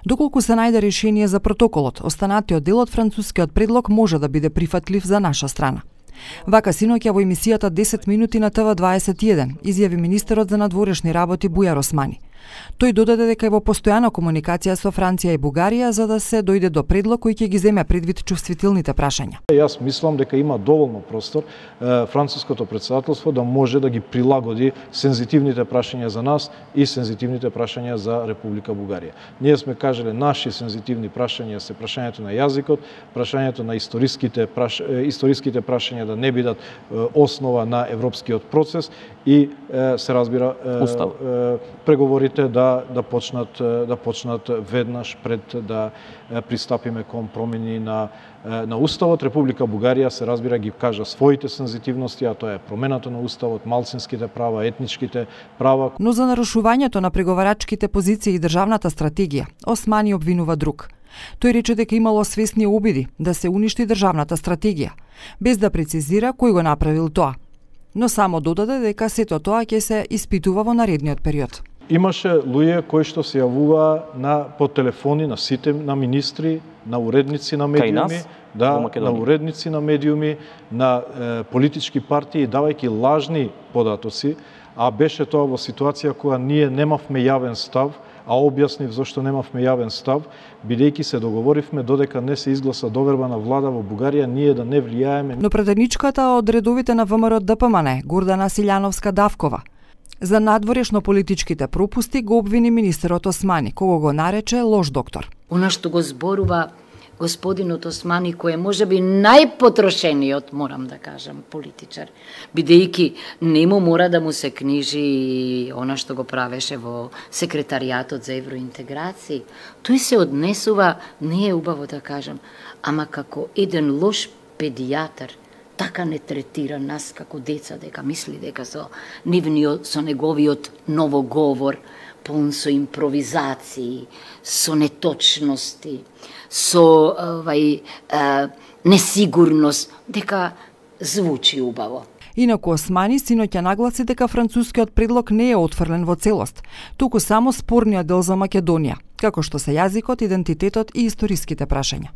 Доколку се најде решение за протоколот, останатиот дел од францускиот предлог може да биде прифатлив за наша страна. Вака синоќа во емисијата 10 минути на ТВ21 изјави министерот за надворешни работи Бујар Османи. Тој додаде дека е во постојана комуникација со Франција и Бугарија за да се дојде до предлог кој ќе ги земе предвид чувствителните прашања. Јас мислам дека има доволно простор француското претседателство да може да ги прилагоди сензитивните прашања за нас и сензитивните прашања за Република Бугарија. Ние сме кажале наши сензитивни прашања се прашањето на јазикот, прашањето на историските прашања да не бидат основа на европскиот процес и се разбира преговорите да почнат веднаш пред да пристапиме кон промени на уставот. Република Бугарија се разбира ги кажа своите сензитивности, а тоа е промената на уставот, малцинските права, етничките права. Но за нарушувањето на преговарачките позиции и државната стратегија, Османи обвинува друг. Тој рече дека имало свесни обиди да се уништи државната стратегија, без да прецизира кој го направил тоа. Но само додаде дека сето тоа ќе се испитува во наредниот период. Имаше луѓе кои што се јавува по телефони на сите на министри, на уредници на медиуми, на уредници на медиуми, на политички партии, давајќи лажни податоци, а беше тоа во ситуација кога ние немавме јавен став, а објаснив зашто немавме јавен став, бидејќи се договоривме додека не се изгласа доверба на влада во Бугарија, ние да не влијаеме. Но председничката од редовите на ВМРО ДПМН, Гордана Силјановска-Давкова, за надворешно политичките пропусти го обвини министерот Османи, кого го нарече лош доктор. Она што го зборува господинот Османи, кој е можеби најпотрошениот, морам да кажам, политичар, бидејќи нему мора да му се книжи она што го правеше во секретаријатот за евроинтеграција. Тој се однесува, не е убаво да кажам, ама како еден лош педијатар, така не третира нас како деца, дека мисли дека со неговиот новоговор, полн со импровизации, со неточности, со несигурност, дека звучи убаво. Инаку Османи синоќа нагласи дека францускиот предлог не е отфрлен во целост, туку само спорниот дел за Македонија, како што се јазикот, идентитетот и историските прашања.